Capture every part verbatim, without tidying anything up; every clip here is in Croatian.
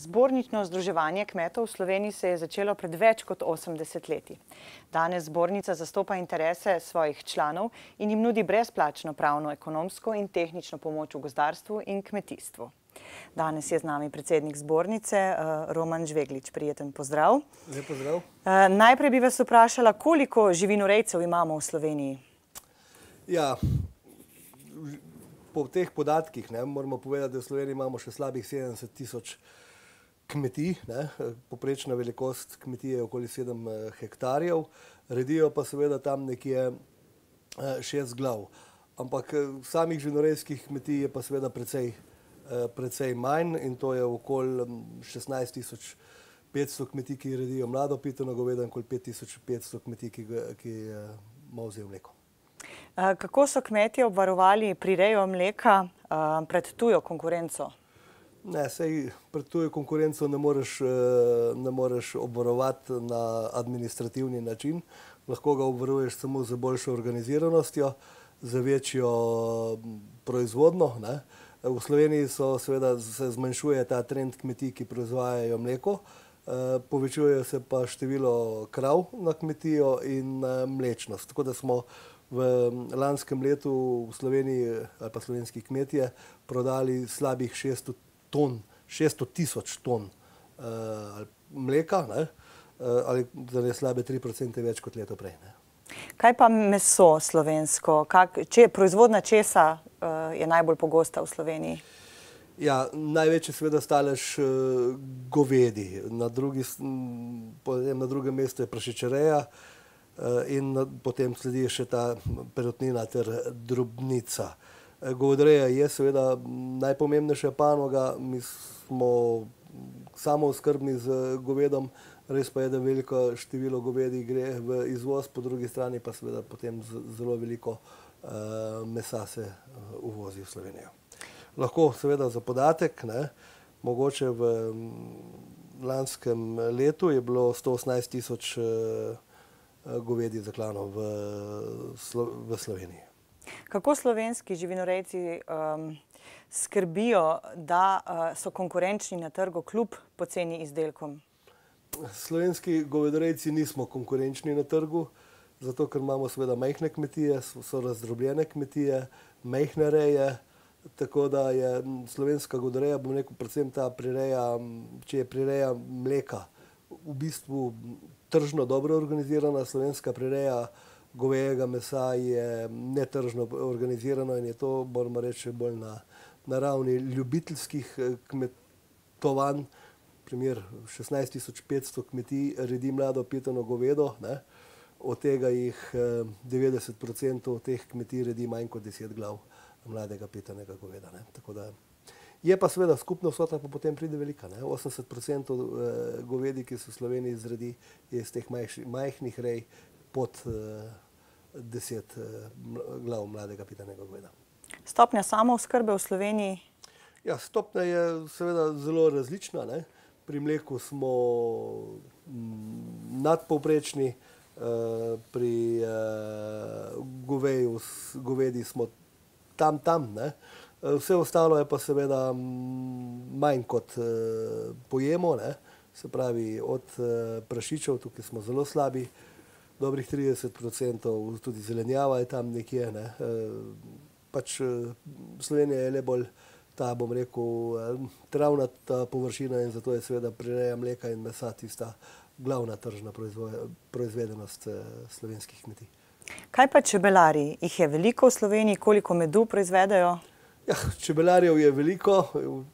Zbornično združevanje kmetov v Sloveniji se je začelo pred več kot osemdeset leti. Danes zbornica zastopa interese svojih članov in jim nudi brezplačno pravno, ekonomsko in tehnično pomoč v gozdarstvu in kmetijstvu. Danes je z nami predsednik zbornice, Roman Žveglič. Prijeten pozdrav. Lep pozdrav. Najprej bi vas vprašala, koliko živinorejcev imamo v Sloveniji? Ja, po teh podatkih ne, moramo povedati, da v Sloveniji imamo še slabih sedemdeset tisoč kmetij. Ne. Poprečna velikost kmetije je okoli sedem hektarjev. Redijo pa seveda tam nekje šest glav. Ampak samih živinorejskih kmetij je pa seveda precej, precej manj in to je okoli šestnajst tisoč petsto kmetij, ki redijo mlado pitano govedo in okoli pet tisoč petsto kmetij, ki, ki molzejo mleko. Kako so kmetje obvarovali prirejo mleka pred tujo konkurenco? Ne, sej pred tujo konkurenco ne moreš, ne moreš obvarovati na administrativni način. Lahko ga obvaruješ samo z boljšo organiziranostjo, z večjo proizvodno. Ne. V Sloveniji so, seveda, se zmanjšuje ta trend kmetij, ki proizvajajo mleko. Povečuje se pa število krav na kmetijo in mlečnost. Tako da smo v lanskem letu v Sloveniji ali pa slovenski kmetje prodali slabih šeststo ton, šeststo tisoč ton uh, mleka, ne? Uh, ali torej slabe tri procente več kot leto prej. Ne? Kaj pa meso slovensko? Kak, če, proizvodnja česa uh, je najbolj pogosta v Sloveniji? Ja, največji seveda stalež uh, govedi. Na, drugi, potem na drugem mestu je prašičereja uh, in na, potem sledi še ta perutnina ter drobnica. Govedoreja je seveda najpomembnejša panoga, mi smo samooskrbni z govedom, res pa je, da veliko število govedi gre v izvoz, po drugi strani pa seveda potem zelo veliko uh, mesa se uh, uvozi v Slovenijo. Lahko seveda za podatek, ne, mogoče v lanskem letu je bilo sto osemnajst tisoč uh, govedi zaklano v, v Sloveniji. Kako slovenski živinorejci um, skrbijo, da uh, so konkurenčni na trgu kljub poceni izdelkom? Slovenski govedorejci nismo konkurenčni na trgu, zato ker imamo seveda majhne kmetije, so razdrobljene kmetije, majhne reje, tako da je slovenska govedoreja, bom rekel, predvsem ta prireja, če je prireja mleka, v bistvu tržno dobro organizirana. Slovenska prireja govejega mesa je netržno organizirano in je to, moramo reči, bolj na, na ravni ljubiteljskih kmetovanj. Primer, šestnajst tisoč petsto kmetij redi mlado pitano govedo, ne? Od tega jih devetdeset procentov teh kmetij redi manj kot deset glav mladega pitanega goveda. Ne? Tako da je pa seveda skupna vsota pa potem pride velika. Ne? osemdeset procentov govedi, ki se v Sloveniji zredi, je iz teh majhnih rej pod deset glav mladega pitanega goveda. Stopnja samooskrbe v Sloveniji? Ja, stopnja je seveda zelo različna. Ne? Pri mleku smo nadpovprečni, pri goveju, govedi smo tam, tam. Ne? Vse ostalo je pa seveda manj kot pojemo. Ne? Se pravi, od prašičev, tukaj smo zelo slabi, dobrih trideset procentov, tudi zelenjava je tam nekje. Ne. Pač Slovenija je le bolj ta, bom rekel, travnata površina in zato je seveda prireja mleka in mesa tista glavna tržna proizvedenost slovenskih kmetij. Kaj pa čebelarji? Jih je veliko v Sloveniji? Koliko medu proizvedajo? Ja, čebelarjev je veliko,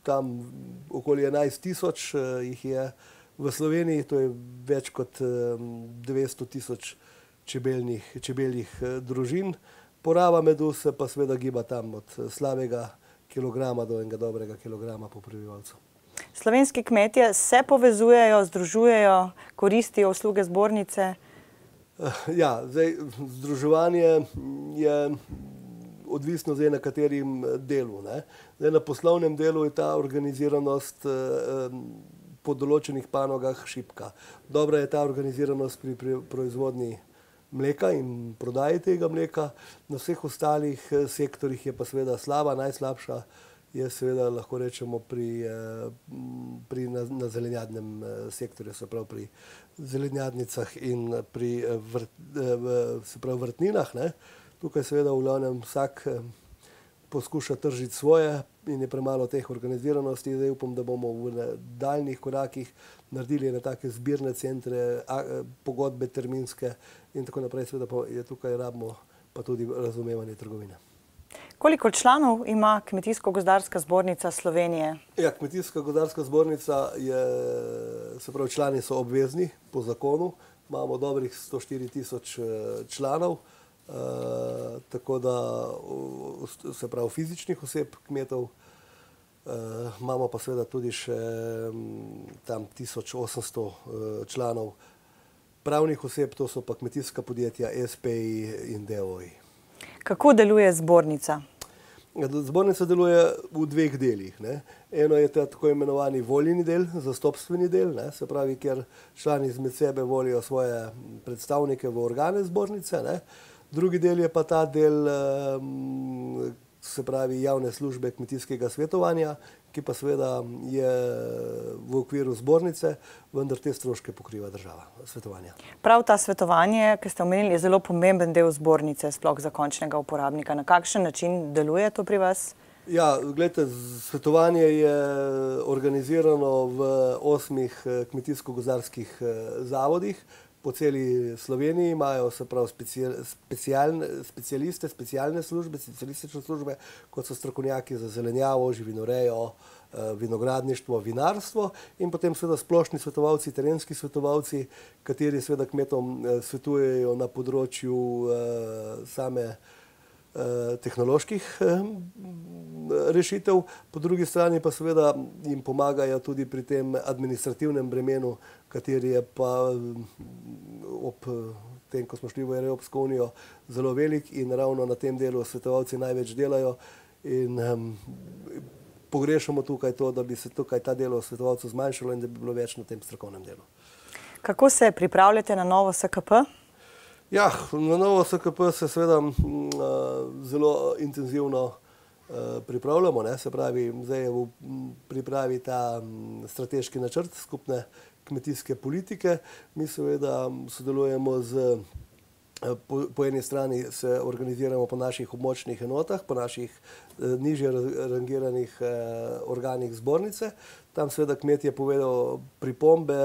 tam okoli enajst tisoč jih je v Sloveniji, to je več kot dvesto tisoč čebeljnih, čebeljih družin. Poraba medu se pa seveda giba tam od slabega kilograma do enega dobrega kilograma po prebivalcu. Slovenski kmetje se povezujejo, združujejo, koristijo usluge zbornice? Ja, zdaj, združevanje je odvisno zdaj na katerim delu. Ne? Zdaj, na poslovnem delu je ta organiziranost po določenih panogah šibka. Dobra je ta organiziranost pri, pri proizvodnji mleka in prodaji tega mleka. Na vseh ostalih sektorjih je pa seveda slaba, najslabša je seveda, lahko rečemo, pri, pri na, na zelenjadnem sektorju, se pravi pri zelenjadnicah in pri vrt, se pravi vrtninah. Ne. Tukaj seveda v glavnem vsak poskuša tržiti svoje in je premalo teh organiziranosti. Zdaj upam, da bomo v daljnih korakih naredili na take zbirne centre, pogodbe terminske in tako naprej. Seveda pa je tukaj rabimo pa tudi razumevanje trgovine. Koliko članov ima Kmetijsko-gozdarska zbornica Slovenije? Ja, Kmetijsko-gozdarska zbornica je, se pravi, člani so obvezni po zakonu. Imamo dobrih sto štiri tisoč članov, uh, tako da, se pravi, fizičnih oseb, kmetov. Uh, imamo pa seveda tudi še tam tisoč osemsto uh, članov pravnih oseb, to so pa kmetijska podjetja, es pe i in de o i. Kako deluje zbornica? Zbornica deluje v dveh delih. Ne. Eno je ta tako imenovani voljeni del, zastopstveni del, ne, se pravi, kjer člani izmed sebe volijo svoje predstavnike v organe zbornice. Ne. Drugi del je pa ta del, se pravi, javne službe kmetijskega svetovanja, ki pa seveda je v okviru zbornice, vendar te stroške pokriva država svetovanja. Prav ta svetovanje, ki ste omenili, je zelo pomemben del zbornice, sploh za končnega uporabnika. Na kakšen način deluje to pri vas? Ja, gledajte, svetovanje je organizirano v osmih kmetijsko-gozdarskih zavodih. Po celi Sloveniji imajo, se pravi, specialne, specialiste, specialne službe, specialistične službe, kot so strokovnjaki za zelenjavo, živinorejo, vinogradništvo, vinarstvo in potem seveda splošni svetovalci, terenski svetovalci, kateri seveda kmetom svetujejo na področju same tehnoloških rešitev, po drugi strani pa seveda jim pomagajo tudi pri tem administrativnem bremenu, kateri je pa ob tem, ko smo šli v Evropsko unijo, zelo velik in ravno na tem delu svetovalci največ delajo in um, pogrešamo tukaj to, da bi se tukaj ta delo svetovalcev zmanjšalo in da bi bilo več na tem strokovnem delu. Kako se pripravljate na novo es ka pe? Ja, na novo es ka pe se seveda zelo intenzivno pripravljamo, ne, se pravi, zdaj je v pripravi ta strateški načrt skupne kmetijske politike. Mi seveda sodelujemo z, po, po eni strani se organiziramo po naših območnih enotah, po naših nižje rangiranih organih zbornice. Tam seveda kmetje povedo pripombe,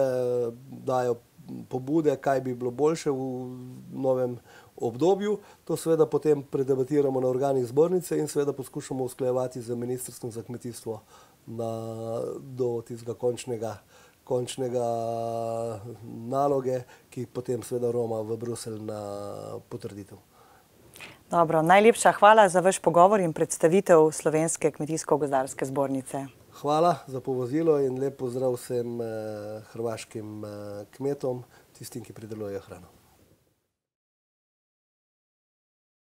dajo pobude, kaj bi bilo boljše v novem obdobju. To seveda potem predebatiramo na organih zbornice in seveda poskušamo usklajevati z Ministrstvom za kmetijstvo na, do tistega končnega, končnega naloge, ki potem seveda roma v Bruselj na potrditev. Dobro, najlepša hvala za vaš pogovor in predstavitev Slovenske kmetijsko-gozdarske zbornice. Hvala za povozilo in lep pozdrav vsem hrvaškim kmetom, tistim, ki pridelujejo hrano.